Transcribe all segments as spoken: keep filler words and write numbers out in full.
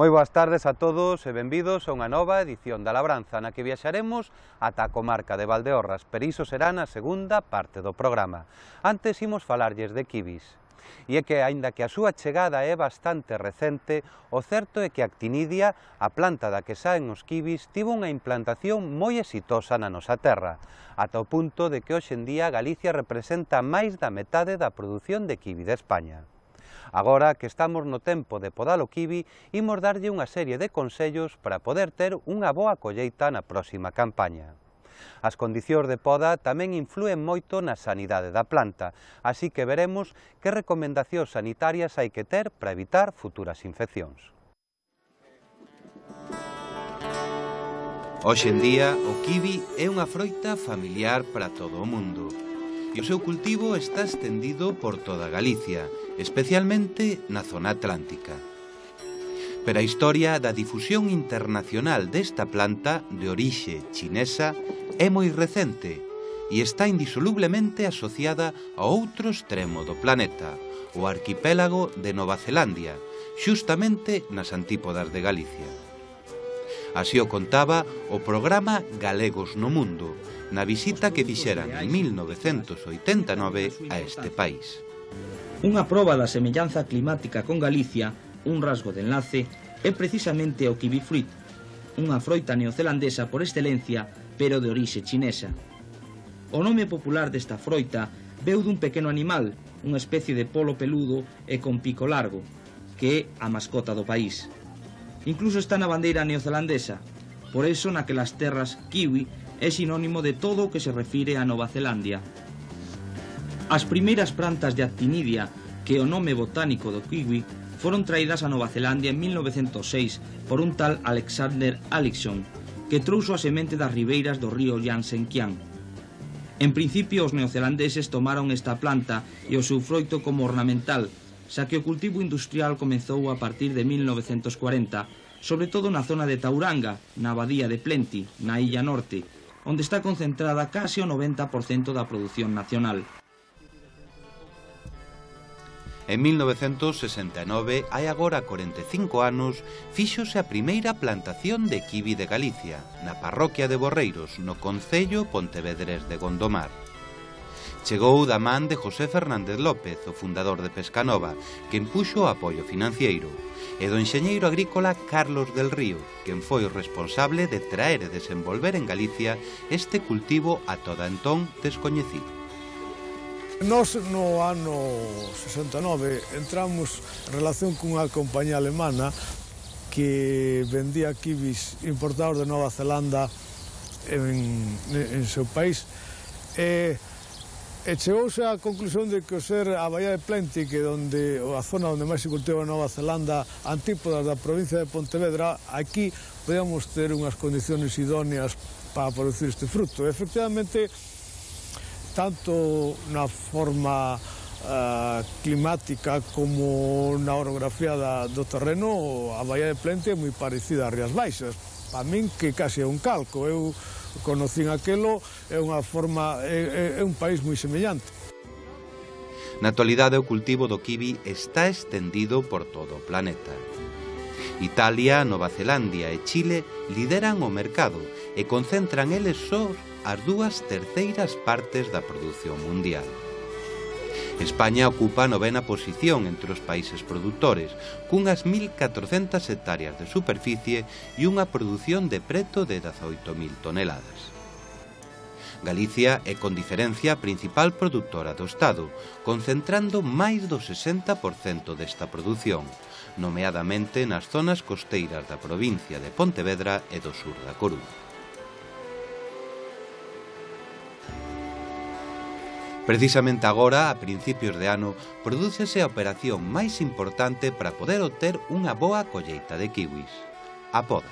Moi boas tardes a todos e benvidos a unha nova edición da Labranza na que viaxaremos ata a comarca de Valdeorras, pero iso será na segunda parte do programa. Antes imos falarlles de kibis. E é que, aínda que a súa chegada é bastante recente, o certo é que a actinidia, a planta da que saen os kibis, tivo unha implantación moi exitosa na nosa terra, ata o punto de que hoxe en día Galicia representa máis da metade da produción de kibi de España. Agora que estamos no tempo de podar o kibi, imos darlle unha serie de consellos para poder ter unha boa colleita na próxima campaña. As condicións de poda tamén influen moito na sanidade da planta, así que veremos que recomendacións sanitarias hai que ter para evitar futuras infeccións. Hoxe en día, o kibi é unha froita familiar para todo o mundo. E o seu cultivo está estendido por toda Galicia, especialmente na zona atlántica. Pero a historia da difusión internacional desta planta de orixe chinesa é moi recente e está indisolublemente asociada a outro extremo do planeta, o arquipélago de Nova Zelandia, xustamente nas antípodas de Galicia. Así o contaba o programa Galegos no Mundo, na visita que fixeran en mil novecentos oitenta e nove a este país. Unha proba da semellanza climática con Galicia, un rasgo de enlace, é precisamente o kiwi fruit, unha froita neozelandesa por excelencia, pero de orixe chinesa. O nome popular desta froita veu dun pequeno animal, unha especie de polo peludo e con pico largo, que é a mascota do país. Incluso está na bandeira neozelandesa, por iso naquelas terras kiwi é sinónimo de todo o que se refire a Nova Zelandia. As primeiras plantas de actinidia, que é o nome botánico do kiwi, foron traídas a Nova Zelandia en mil novecentos seis por un tal Alexander Alexson, que trouxo a semente das ribeiras do río Yangtze-Kiang. En principio, os neozelandeses tomaron esta planta e o seu froito como ornamental, xa que o cultivo industrial comezou a partir de mil novecentos cuarenta, sobre todo na zona de Tauranga, na abadía de Plenty, na Illa Norte, onde está concentrada case o noventa por cento da produción nacional. En mil novecentos sesenta e nove, hai agora corenta e cinco anos, fíxose a primeira plantación de kibi de Galicia, na parroquia de Borreiros, no concello pontevedrés de Gondomar. Chegou da man de José Fernández López, o fundador de Pescanova, que impuxo o apoio financiero, e do enxeñeiro agrícola Carlos del Río, quen foi o responsable de traer e desenvolver en Galicia este cultivo a toda entón descoñecido. Nos no ano sesenta e nove entramos en relación cunha compañía alemana que vendía kibis importados de Nova Zelanda en, en seu país e, e chegouse á conclusión de que o ser a Bahía de Plenty, que onde a zona onde máis se cultiva Nova Zelanda, antípodas da provincia de Pontevedra, aquí podíamos ter unhas condicións idóneas para producir este fruto. E, efectivamente, tanto na forma uh, climática como na orografía da, do terreno, a Bahía de Plenty é moi parecida ás Rías Baixas. Para min que case é un calco. Eu conocín aquelo, é unha forma, é, é un país moi semellante. Na actualidade o cultivo do kibi está estendido por todo o planeta. Italia, Nova Zelandia e Chile lideran o mercado e concentran eles só as dúas terceiras partes da produción mundial. España ocupa a novena posición entre os países produtores, cunhas mil catrocentas hectáreas de superficie e unha produción de preto de dezaoito mil toneladas. Galicia é con diferencia a principal produtora do Estado, concentrando máis do sesenta por cento desta produción, nomeadamente nas zonas costeiras da provincia de Pontevedra e do sur da Coruña. Precisamente agora, a principios de ano, prodúcese a operación máis importante para poder obter unha boa colleita de kiwis, a poda.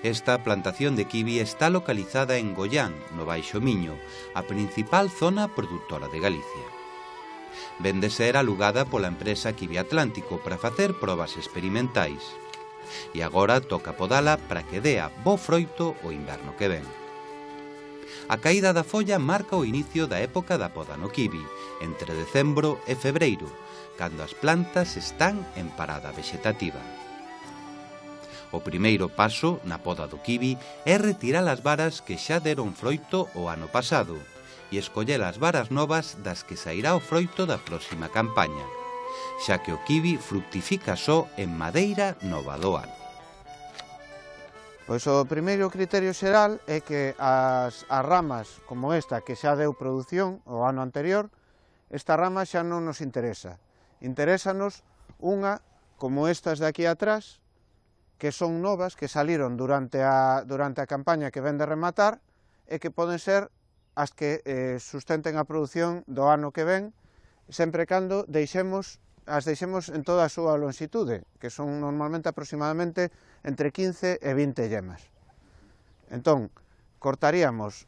Esta plantación de kiwi está localizada en Goián, no Baixo Miño, a principal zona produtora de Galicia. Ven de ser alugada pola empresa Kiwi Atlántico para facer probas experimentais. E agora toca podala para que dea bo froito o inverno que ven. A caída da folla marca o inicio da época da poda no kiwi, entre decembro e febreiro, cando as plantas están en parada vexetativa. O primeiro paso na poda do kiwi é retirar as varas que xa deron froito o ano pasado e escoller as varas novas das que sairá o froito da próxima campaña, xa que o kiwi fructifica só en madeira nova do ano. Pois o primeiro criterio xeral é que as, as ramas como esta que xa deu produción o ano anterior, esta rama xa non nos interesa. Interésanos unha como estas de aquí atrás, que son novas, que saliron durante a, durante a campaña que ven de rematar e que poden ser as que eh, sustenten a produción do ano que ven, sempre cando deixemos as deixemos en toda a súa longitude, que son normalmente aproximadamente entre quince e vinte yemas. Entón, cortaríamos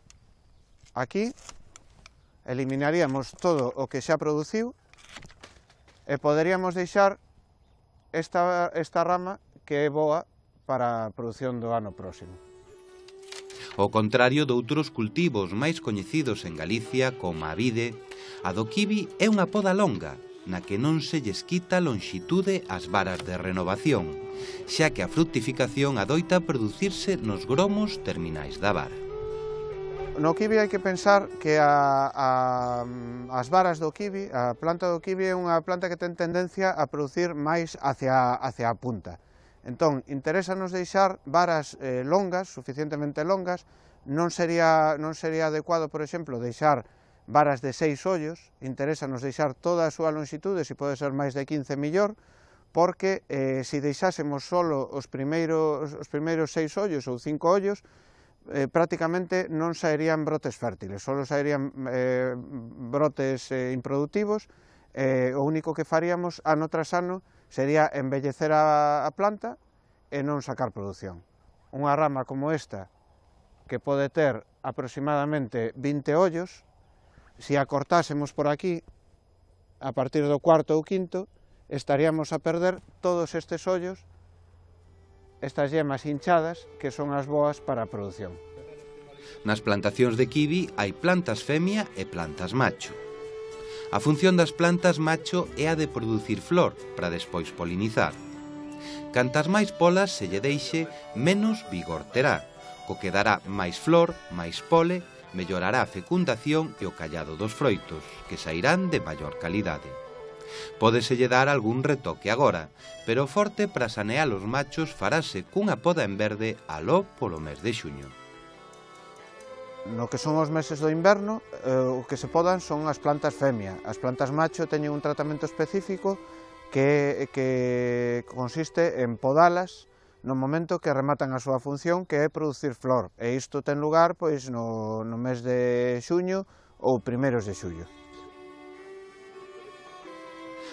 aquí, eliminaríamos todo o que xa produciu e poderíamos deixar esta, esta rama que é boa para a produción do ano próximo. Ao contrario doutros cultivos máis coñecidos en Galicia, como a vide, a do kiwi é unha poda longa, na que non se lles quita longitude ás varas de renovación, xa que a fructificación adoita producirse nos gromos terminais da vara. No kiwi hai que pensar que a, a, as varas do kiwi, a planta do kiwi é unha planta que ten tendencia a producir máis hacia, hacia a punta. Entón, interésanos deixar varas eh, longas, suficientemente longas, non sería, non sería adecuado, por exemplo, deixar varas de seis ollos, interésanos deixar toda a súa longitude, se pode ser máis de quince millor, porque eh, se deixásemos solo os primeiros, os primeiros seis ollos ou cinco ollos, eh, prácticamente non saerían brotes fértiles, solo saerían eh, brotes eh, improductivos, eh, o único que faríamos ano tras ano sería embellecer a, a planta e non sacar produción. Unha rama como esta, que pode ter aproximadamente vinte ollos, se a cortásemos por aquí, a partir do cuarto ou quinto, estaríamos a perder todos estes ollos, estas yemas hinchadas, que son as boas para a produción. Nas plantacións de kiwi hai plantas femia e plantas macho. A función das plantas macho é a de producir flor para despois polinizar. Cantas máis polas se lle deixe, menos vigor terá, co que dará máis flor, máis pole, mellorará a fecundación e o callado dos froitos, que sairán de maior calidade. Pódeselle dar algún retoque agora, pero o forte para sanear os machos farase cunha poda en verde aló polo mes de xuño. No que son os meses do inverno, eh, o que se podan son as plantas femia. As plantas macho teñen un tratamento específico que, que consiste en podalas no momento que rematan a súa función, que é producir flor, e isto ten lugar pois no, no mes de xuño ou primeiros de xullo.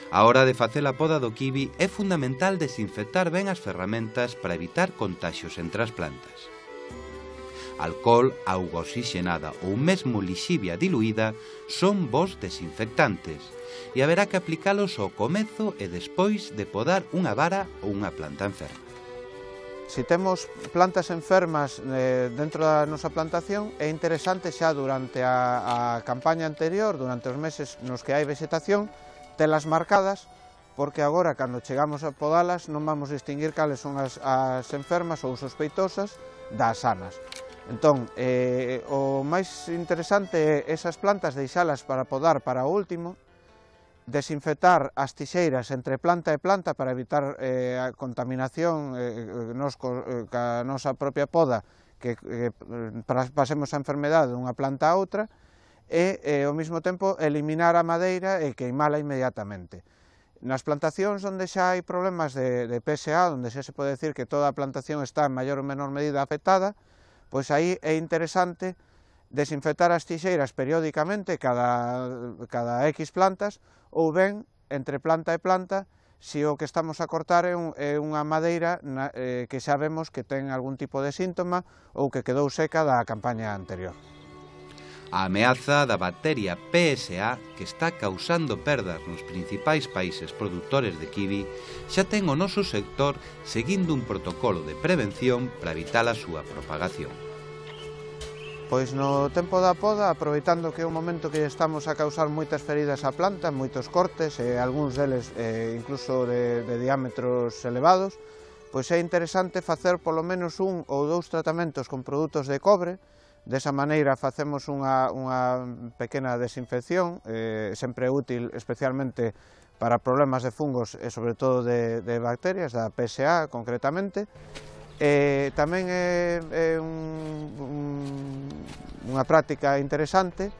A hora de facer a poda do kiwi é fundamental desinfectar ben as ferramentas para evitar contaxios entre as plantas. Alcohol, auga oxigenada ou mesmo lixivia diluída son bons desinfectantes e haberá que aplicalos ao comezo e despois de podar unha vara ou unha planta enferma. Se temos plantas enfermas eh, dentro da nosa plantación, é interesante xa durante a, a campaña anterior, durante os meses nos que hai vegetación, telas marcadas, porque agora, cando chegamos a podalas, non vamos distinguir cales son as, as enfermas ou sospeitosas das sanas. Entón, eh, o máis interesante é esas plantas deixalas para podar para o último, desinfectar as tixeiras entre planta e planta para evitar eh, a contaminación eh, nos, eh, ca nosa propia poda, que eh, pasemos a enfermedade dunha planta a outra, e eh, ao mesmo tempo eliminar a madeira e queimala inmediatamente. Nas plantacións onde xa hai problemas de, de P S A, onde xa se pode decir que toda a plantación está en maior ou menor medida afectada, pois aí é interesante desinfectar as tixeiras periódicamente cada, cada X plantas, ou ben, entre planta e planta, se o que estamos a cortar é, un, é unha madeira na, eh, que xa vemos que ten algún tipo de síntoma ou que quedou seca da campaña anterior. A ameaza da bacteria P S A, que está causando perdas nos principais países produtores de kiwi, xa ten o noso sector seguindo un protocolo de prevención para evitar a súa propagación. Pois no tempo da poda, aproveitando que é un momento que estamos a causar moitas feridas á planta, moitos cortes, e algúns deles eh, incluso de, de diámetros elevados, pois é interesante facer polo menos un ou dous tratamentos con produtos de cobre. Desa maneira facemos unha, unha pequena desinfección, eh, sempre útil especialmente para problemas de fungos e sobre todo de, de bacterias, da P S A concretamente. E tamén é, é un, un, unha práctica interesante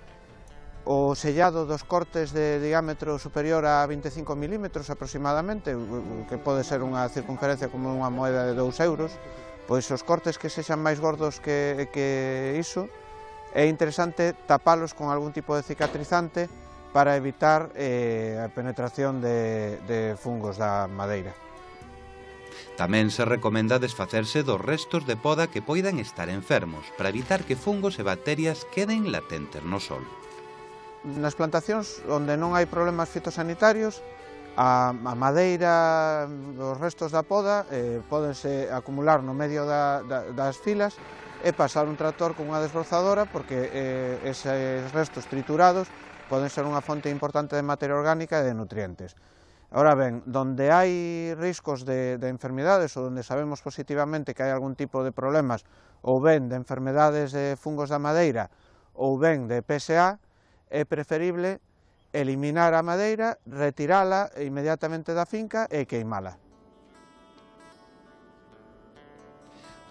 o sellado dos cortes de diámetro superior a vinte e cinco milímetros aproximadamente, que pode ser unha circunferencia como unha moeda de dous euros, pois os cortes que sexan máis gordos que, que iso, é interesante tapalos con algún tipo de cicatrizante para evitar eh, a penetración de, de fungos da madeira. Tamén se recomenda desfacerse dos restos de poda que poidan estar enfermos, para evitar que fungos e bacterias queden latentes no solo. Nas plantacións onde non hai problemas fitosanitarios, a, a madeira, os restos da poda, eh, pódense acumular no medio da, da, das filas e pasar un tractor con unha desbrozadora, porque eh, eses restos triturados poden ser unha fonte importante de materia orgánica e de nutrientes. Ahora ben, donde hai riscos de, de enfermedades ou donde sabemos positivamente que hai algún tipo de problemas ou ben de enfermedades de fungos da madeira ou ben de P S A, é preferible eliminar a madeira, retirala inmediatamente da finca e queimala.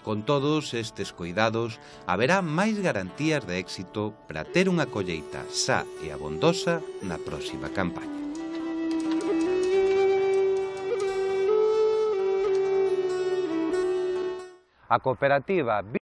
Con todos estes cuidados, haberá máis garantías de éxito para ter unha colleita sa e abondosa na próxima campaña. A cooperativa